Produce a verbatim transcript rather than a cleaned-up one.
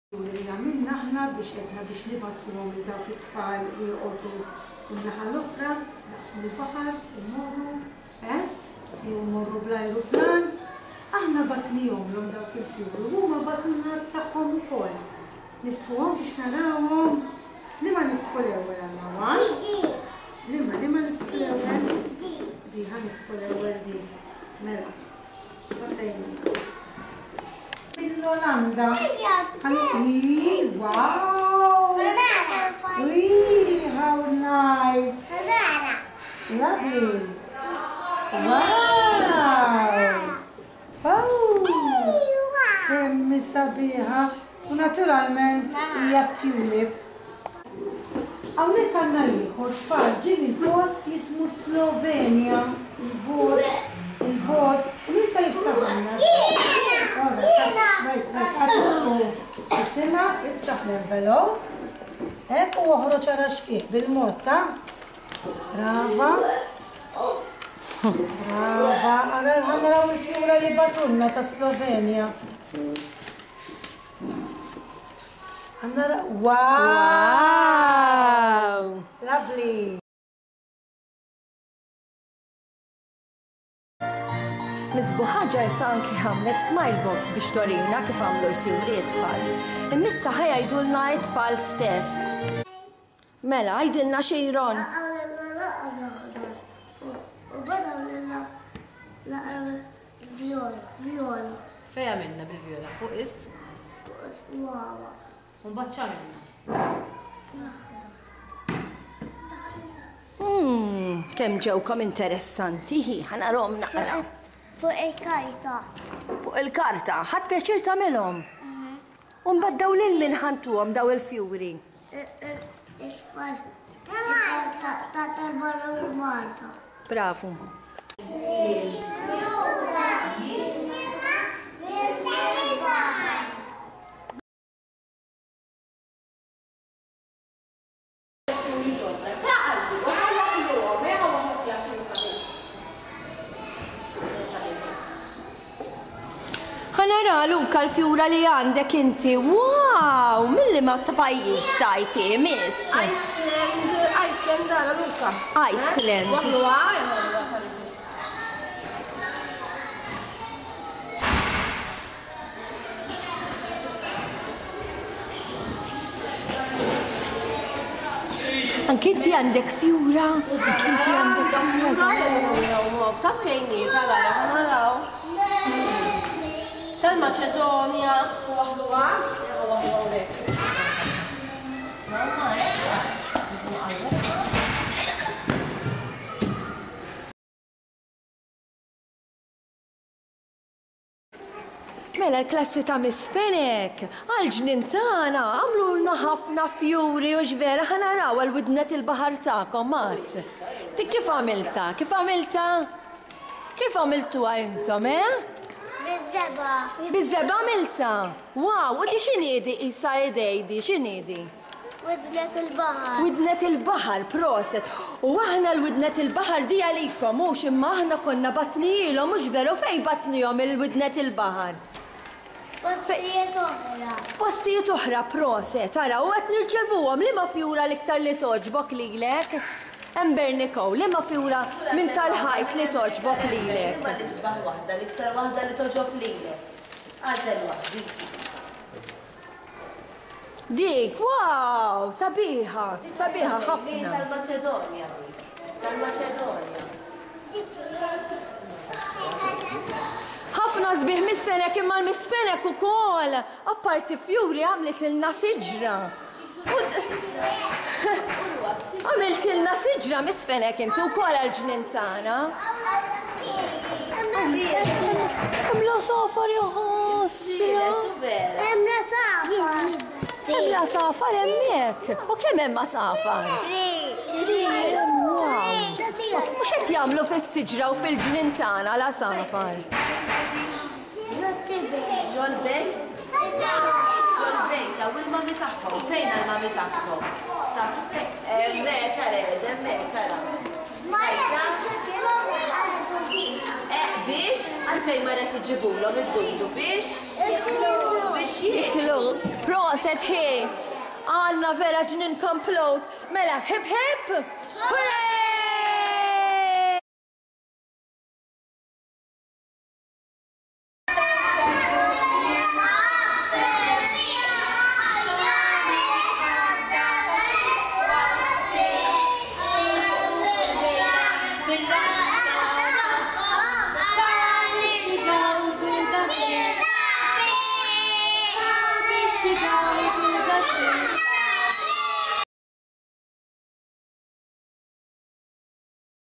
Li għamilna aħna biex edna biex nibagħtuhom lil dawk it-tfal li joqogħdu n-naħa l-oħra, naqsmu l-baħar, immorru, eh? Jew mmorru bl-ajruplan. Aħna bgħatnihomlhom dawk il-fjuri, huma bagħtulna tagħhom ukoll. Niftħuhom biex narawhom. Liema niftħu l-ewwel għandna one? Liema, liema niftħu l-ewwel? Di, ħa niftħu l-ewwel di. Mela, fejn? Mill-Olanda. Wow! Wee, how nice! Lovely! Wow! Oh! Kemm sabiħa! U naturalment hija tulip. Hawnhekk għandna ieħor tfal ġie mill-post jismu Slovenja. Il-bot, il-bot, u min sa jiftaħ? Isma', iftaħ l-envelope. Hekk u oħroġ ara x'fih bil-mod ta' Brava. Brava. Ara ħa naraw il-fjura li bagħtulna ta' Slovenja. Ħa nara. Wow! Lovely! Miss Buħaġar sa anki għamlet smile box biex torina kif għamlu l-fjuri it-tfal. Imma issa ħa jgħidulna it-tfal stess. Mela, għidilna Xejron. U bada għamilna naqra viola, viola. Fejn għamilna bil-viola? Fuq is? Fuq is-swawa. U mbagħad x'għamilna? Hmm, kemm ġewkom interessanti, hi, ħa narahom naqra. Fuq il-karta. Fuq il-karta, ħadt pjaċir tagħmilhom. U mbagħad daw lil min ħa ntuhom daw il-fjuri. Il-tfal ta' tal-barra u Malta. Bravu. Ħa nara Luka l-fjura li għandek inti. Wow! Milli ma ta' pajjiż tajti, miss? Iceland, Iceland, ara Luka. Iceland. Waħluha, jaħluha sabiħ. Anki inti għandek fjura? Anki inti għandek fjura? Ta' fejn hi, ara, ħa naraw. Tal-Maċedonja u waħluha, waħluha hawnhekk. Mamma, Mela l-klassi ta' Miss Fenech, għal-ġnien tagħna għamlulna ħafna fjuri u ġvera ħa naraw għal-widnet il-baħar tagħkom, Mat. Dik kif għamilta? Kif għamilta? Kif għamiltuha intom, eh? Biż-żebgħa. Biż-żebgħa għamilta? Wow, u di x'inhi di isa idej di, x'inhi di? Widnet il-baħar. Widnet il-baħar, proset. U aħna l-widnet il-baħar di għalikom, mhux imma aħna konna bgħatnihilhom, mhux veru fejn bgħatnihom il-widnet il-baħar? Postijiet oħra. Postijiet oħra, proset. Ara, u qed nirċevuhom liema fjura l-iktar li togħġbok lilek? Ember Nicole, liema fjura minn tal-ħajt li togħġbok lilek? Liema l-isbaħ waħda, l-iktar waħda li togħġob lilek. Għażel waħda. Dik, wow, sabiħa, sabiħa ħafna. Tal-Maċedonja dik, tal-Maċedonja. Ħafna sbieħ Miss Fenech imma l-Miss Fenech ukoll, apparti fjuri għamlet ilna siġra. Għamilt ilna siġra Miss Fenech inti wkoll għal-ġnien tagħna. Hemm l-għasafar jaħasra. Hemm l-għasafar. Hemm l-għasafar hemmhekk. U kemm hemm għasafar? Tri. Tri. Wow. U x'qed jagħmlu fis-siġra u fil-ġnien tagħna l-għasafar? Ġol-bejt? Ġol-bejt, u l-mami tagħhom. Fejn l-mami tagħhom? Tafu fejn? Hemmhekk ara, hemmhekk ara. Eh, biex? Għalfejn Għalfejn marret iġibulhom id-dudu biex? Biex jieklu. Proset hi! Għandna vera ġnien komplut. Mela, hip hip! Hooray!